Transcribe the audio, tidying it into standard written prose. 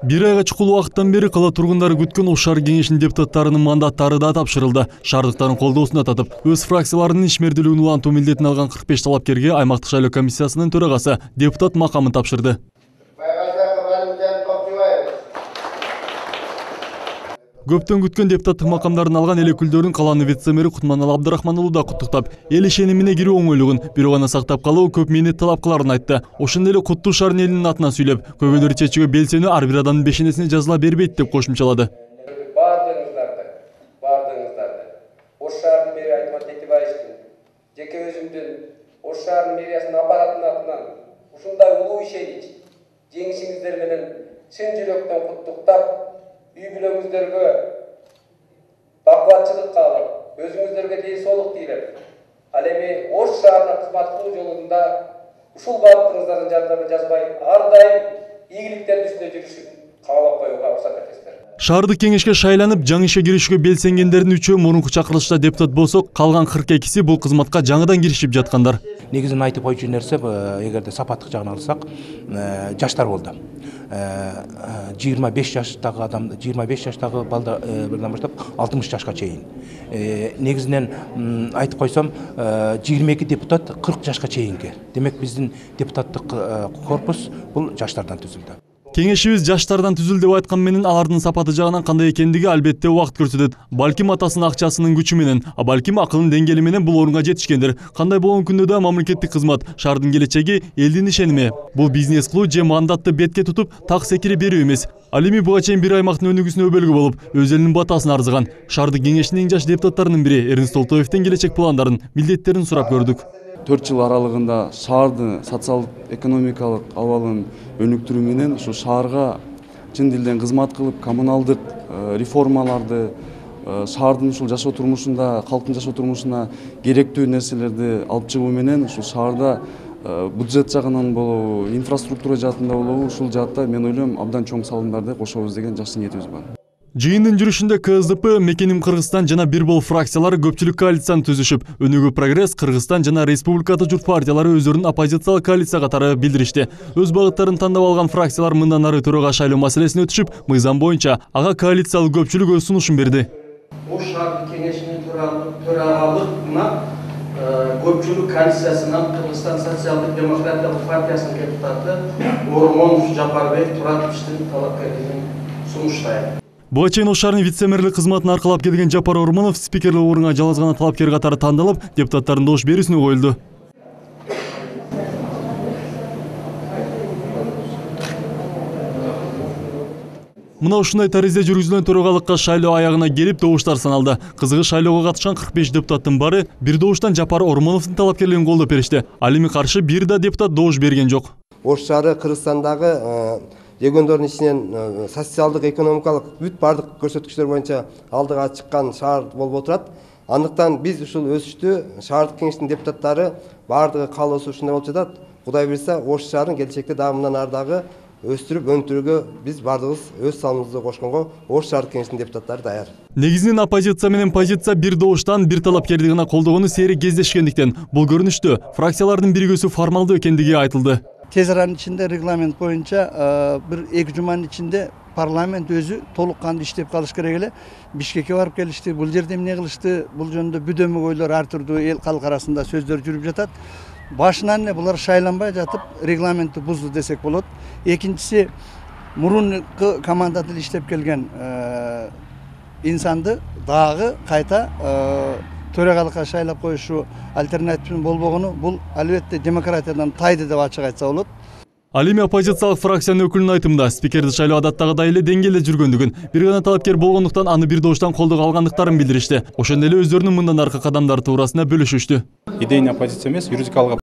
Bir ayга чукул убакыттан бери кала тургундары күткөн Ош шаар кеңешинин депутаттарынын мандаттары да тапшырылды. Шаардыктардын колдоосуна татып, өз фракцияларынын ишмердүүлүгүн улантуу милдетин алган 45 талапкерге аймактык шайлоо комиссиясынын төрагасы депутат макамын тапшырды. Көптөн күткөн депутаттык макамдарын алган эл өкүлдөрүн калаанын вице-мэри Кутманалы Абдрахман уулу да куттуктап, эл ишенимине кирүү оңойлугун, бирок аны сактап калуу көп мээнет талап кыларын айтты. Ошондой эле Куттуу шаарынын элинин атынан сүйлөп, көйгөйлөрдү чечүүгө белсенүү ар бир адамдын бешенесине жазыла бербейт деп кошумчалады. Бардыгыңыздарды Ош шаарынын мэри Айтмат Тетибаевдин, жеке өзүмдүн Ош шаарынын мэриясынын аппаратынын атынан ушундай улуу ишенич, жеңишиңиздер менен чын жүрөктөн куттуктап, үй бүлөңүздөргө бакубатчылык каалап, өзүңүздөргө ден соолук тилеп, ал эми Ош шаарына кызмат кылуу жолунда ушул багытыңыздардын жардамын жазбай, ар дайым ийгиликтердин үстүндө жүрүшүн каалап коюуга уруксат этесиздер. Шаардык кеңешке шайланып, жаңы ишке киришүүгө белсенгендердин 3-өө мурунку чакырылышта депутат болсо, калган 42-си бул кызматка жаңыдан киришип жаткандар. Негизинен айтып койчу нерсе, эгерде сапаттык жагын алсак, жаштар болду. 25 жаштагы адам, 25 жаштагы балдардан баштап 60 жашка чейин. Негизинен айтып койсом, 22 депутат 40 жашка чейинки. Демек биздин депутаттык корпус бул жаштардан түзүлдү. Кеңешибиз жаштардан түзүлдү деп айткан менен алардын сапаты жагынан кандай экендиги албетте убакыт көрсөтөт. Балким атасынын акчасынын күчү менен, балким акылынын деңгээли менен бул орунга жетишкендир. Кандай болгон күндө да мамлекеттик кызмат, шаардын келечеги, элдин ишеними. Бул бизнес кылуу же мандатты бетке тутуп, так секире берүү эмес. Ал эми буга чейин бир аймактын өнүгүүсүнө өбөлгө болуп, өз элинин батасын арзыган. Шаардык кеңештин эң жаш депутаттарынын бири Эрнст Толтоевден келечек пландарын, милдеттерин сурап көрдүк. 4 жыл аралыгында шаардын социалдык-экономикалык абалын өнүктүрүү менен ушу шаарга чын дилден кызмат кылып, коммуналдык реформаларды, шаардын ушул жашоо турмушунда, калктын жашоо турмушуна керектүү нерселерди алып чыгуу менен ушул шаарда бюджет жагынан болобу, инфраструктура жаатында болобу, ушул жаатта мен ойлойм абдан чоң салымдарды кошобуз деген жакшы ниетибиз бар. Жыйындын жүрүшүндө КСДП, Мекеним Кыргызстан жана Бир Бол фракциялары көпчүлүк коалицияны түзүшүп, Өнүгүү Прогресс, Кыргызстан жана Республиката журт партиялары өздөрүнүн оппозициялык коалиция катары билдиришти. Өз багыттарын тандап алган фракциялар мындан ары төрага шайлоо маселесин өтүшүп, мыйзам боюнча ага коалициялык көпчүлүк өз сунушун берди. Ош шаардык кеңешинин төрагалыгына көпчүлүк коалициясынан Кыргызстан социалдык-демократиялык партиясынын депутаты Ормонов Жапарбек Туратовичтин талапкерлигин сунуштайт. Буга чейин Ош шаарынын вице-мэрлик кызматын аркалап келген Жапар Ормонов спикерлик орунга жалгыз гана талапкер катары тандалып, депутаттардын добуш берүүсүнө коюлду. Мына ушундай таризде жүргүзүлгөн төрагалыкка шайлоо аягына келип добуштар саналды. Кызыгы шайлоого катышкан 45 депутаттын бары бир добуштан Жапар Ормоновдун талапкерлигин колдоп беришти. Ал эми каршы бир да депутат добуш берген жок. Ош шаары Кыргызстандагы региондордун ичинен социалдык, экономикалык бүт бардык көрсөткүчтөр боюнча алдыга чыккан шаар болуп отурат. Андыктан биз ушул өсүштү шаардык кеңештин депутаттары бардыгы каалоосу ушундай болуп жатат. Кудай буйрса, Ош шаарын келечекте дагы мындан ары дагы өстүрүп, өнүктүрүүгө биз бардыгыбыз өз салымыбызды кошконго Ош шаардык кеңештин депутаттары даяр. Негизинен оппозиция менен позиция бир добуштан бир талапкерди гана колдогону сейрек кездешкендиктен, бул көрүнүштө фракциялардын биригүүсү формалдуу экендиги айтылды. Тез аранын ичинде регламент боюнча бир 2 жуманын ичинде парламент өзү толук кандуу иштеп калыш керек эле. Бишкекке барып келишти, бул жерде эмне кылышты, бул жөнүндө бүдөмөк ойлор ар түрдүү эл калк арасында сөздөр жүрүп жатат. Башынан эле булар шайланбай жатып регламентти бузду десек болот. Экинчиси, мурунку командада иштеп келген инсанды дагы кайта төрагалыкка шайлап коюшу альтернативин болбогону бул албетте демократиядан тайды деп ачык айтса болот. Ал эми оппозициялык фракциянын өкүлүнүн айтымында спикерди шайлоо адаттагыдай эле деңгээлде жүргөндүгүн, бир гана талапкер болгондуктан аны бир добуштан колдого алгандыктарын билдиришти. Ошондой эле өздөрүнүн мындан аркы кадамдары туурасында бөлүшүштү. Идейный оппозиция эмес, юридикалык